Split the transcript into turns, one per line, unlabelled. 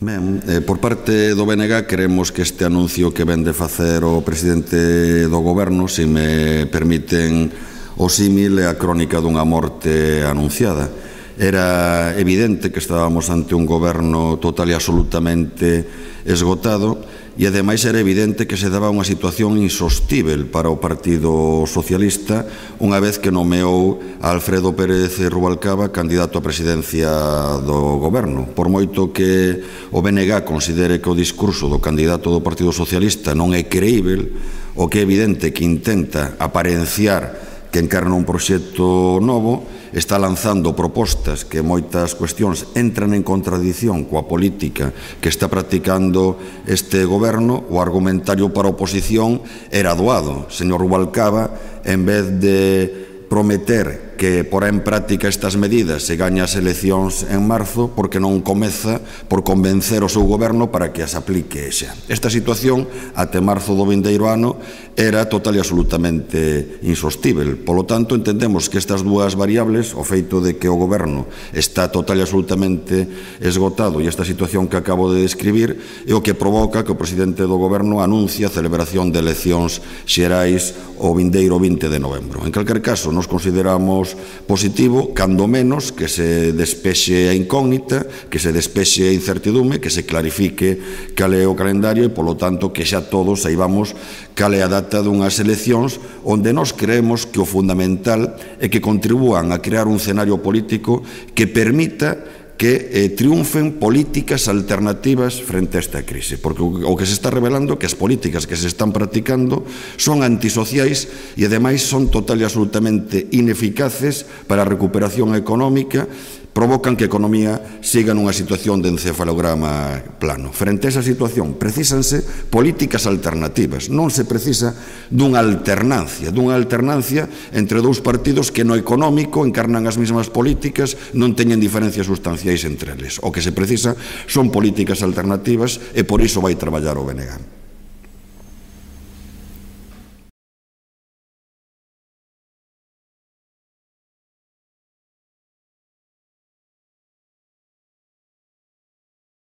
Ben, por parte do BNG queremos que este anuncio que ven de facer o presidente do goberno, se me permiten o símil, é a crónica dunha morte anunciada. Era evidente que estábamos ante un goberno total e absolutamente esgotado e ademais era evidente que se daba unha situación insostível para o Partido Socialista unha vez que nomeou a Alfredo Pérez Rubalcaba candidato á presidencia do goberno. Por moito que o BNG considere que o discurso do candidato do Partido Socialista non é creíble, o que é evidente que intenta aparenciar que encarna un proxecto novo, está lanzando propostas que moitas cuestións entran en contradición coa política que está practicando este goberno. O argumentario para a oposición era doado. Señor Rubalcaba, en vez de prometer que porá en práctica estas medidas se gaña as eleccións en marzo, porque non comeza por convencer o seu goberno para que as aplique xa. Esta situación, até marzo do vindeiro ano, era total e absolutamente insostível. Polo tanto, entendemos que estas dúas variables, o feito de que o goberno está total e absolutamente esgotado e esta situación que acabo de describir, é o que provoca que o presidente do goberno anuncie a celebración de eleccións xerais o vindeiro 20 de novembro. En calquer caso, nos consideramos positivo, cando menos, que se despexe a incógnita, que se despexe a incertidume, que se clarifique cal é o calendario e, polo tanto, que xa todos saibamos cal é a data dunhas eleccións onde nós creemos que o fundamental é que contribúan a crear un escenario político que permita que triunfen políticas alternativas frente a esta crise, porque o que se está revelando é que as políticas que se están practicando son antisociais e ademais son total e absolutamente ineficaces para a recuperación económica, provocan que a economía siga nunha situación de encefalograma plano. Frente a esa situación, precísanse políticas alternativas. Non se precisa dunha alternancia entre dous partidos que no económico encarnan as mesmas políticas, non teñen diferencias sustanciais entre eles. O que se precisa son políticas alternativas e por iso vai traballar o BNG.